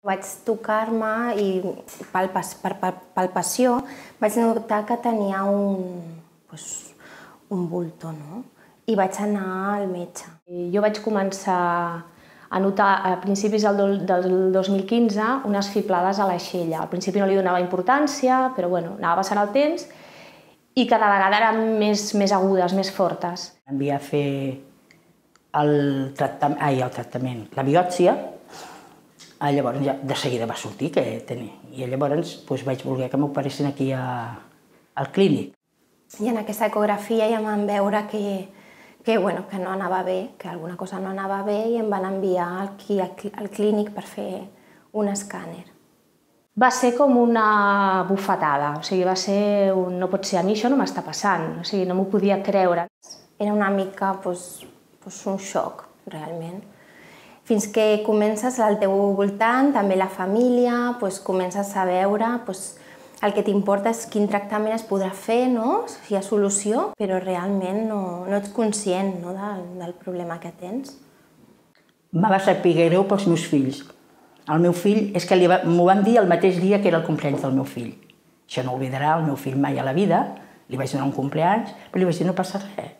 Vaig tocar-me i per palpació vaig notar que tenia un bulto, no? I vaig anar al metge. Jo vaig començar a notar a principis del 2015 unes fiblades a l'aixella. Al principi no li donava importància, però bueno, anava passant el temps i cada vegada eren més agudes, més fortes. Em havia de fer la biòpsia. Llavors de seguida va sortir que tenia. I llavors vaig voler que m'operessin aquí al clínic. I en aquesta ecografia ja vam veure que no anava bé, que alguna cosa no anava bé i em van enviar aquí al clínic per fer un escàner. Va ser com una bufetada, o sigui, va ser un no pot ser, a mi això no m'està passant, o sigui, no m'ho podia creure. Era una mica un xoc, realment. Fins que comences al teu voltant, també la família, comences a veure el que t'importa és quin tractament es podrà fer, si hi ha solució, però realment no ets conscient del problema que tens. Me va saber greu pels meus fills. El meu fill, és que m'ho van dir el mateix dia que era el cumpleaños del meu fill. Això no oblidarà el meu fill mai a la vida, li vaig donar un cumpleaños, però li vaig dir no passa res.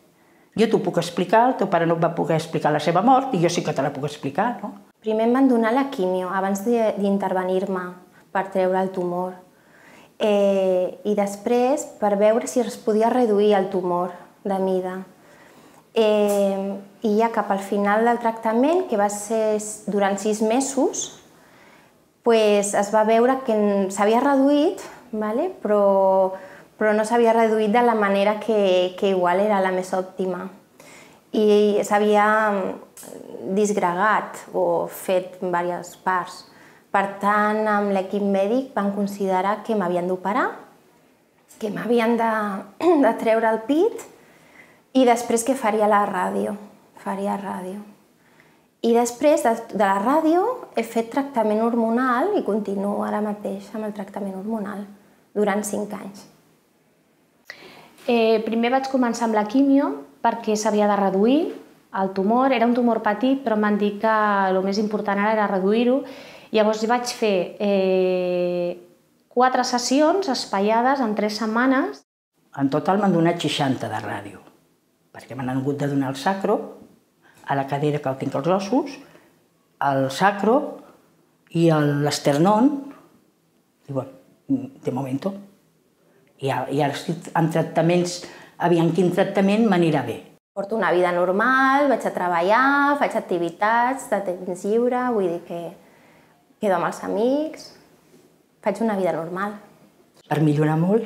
Jo t'ho puc explicar, el teu pare no et va poder explicar la seva mort i jo sí que te la puc explicar, no? Primer em van donar la quimio abans d'intervenir-me per treure el tumor. I després per veure si es podia reduir el tumor de mida. I ja cap al final del tractament, que va ser durant 6 mesos, es va veure que s'havia reduït, però no s'havia reduït de la manera que igual era la més òptima. I s'havia disgregat o fet en diverses parts. Per tant, amb l'equip mèdic van considerar que m'havien d'operar, que m'havien de treure el pit i després que faria la ràdio. I després de la ràdio he fet tractament hormonal i continuo ara mateix amb el tractament hormonal durant 5 anys. Primer vaig començar amb la quimio perquè s'havia de reduir el tumor. Era un tumor petit, però em van dir que el més important ara era reduir-ho. Llavors vaig fer 4 sessions espaiades en 3 setmanes. En total m'han donat 60 de ràdio, perquè m'han hagut de donar el sacro, a la cadera que el tinc als ossos, el sacro i l'esternón, i bueno, de momento. I ara estic en tractaments, aviam quin tractament m'anirà bé. Porto una vida normal, vaig a treballar, faig activitats de temps lliure, vull dir que quedo amb els amics, faig una vida normal. Per millorar molt,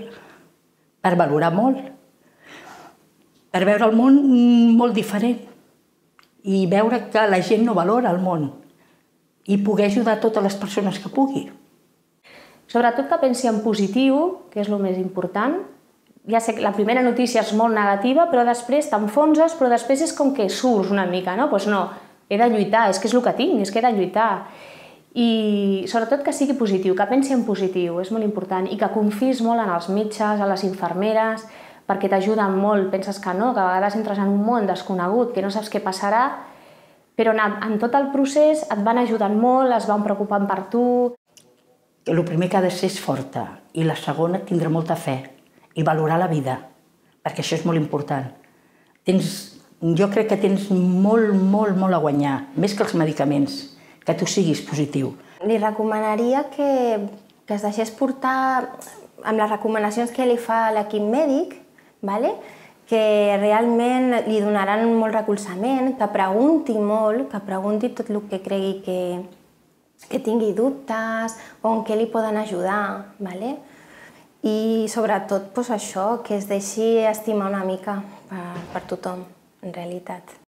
per valorar molt, per veure el món molt diferent i veure que la gent no valora el món i poder ajudar totes les persones que pugui. Sobretot que pensi en positiu, que és el més important. Ja sé que la primera notícia és molt negativa, però després t'enfonses, però després és com que surts una mica, no? Doncs no, he de lluitar, és que és el que tinc, és que he de lluitar. I sobretot que sigui positiu, que pensi en positiu, és molt important, i que confiïs molt en els metges, en les infermeres, perquè t'ajuden molt, penses que no, que a vegades entres en un món desconegut, que no saps què passarà, però en tot el procés et van ajudant molt, es van preocupant per tu. El primer que ha de ser és forta, i la segona tindre molta fe, i valorar la vida, perquè això és molt important. Jo crec que tens molt a guanyar, més que els medicaments, que tu siguis positiu. Li recomanaria que es deixés portar amb les recomanacions que li fa l'equip mèdic, que realment li donaran molt recolzament, que pregunti molt, que pregunti tot el que cregui que tingui dubtes o en què li poden ajudar. I sobretot això, que es deixi estimar una mica per tothom, en realitat.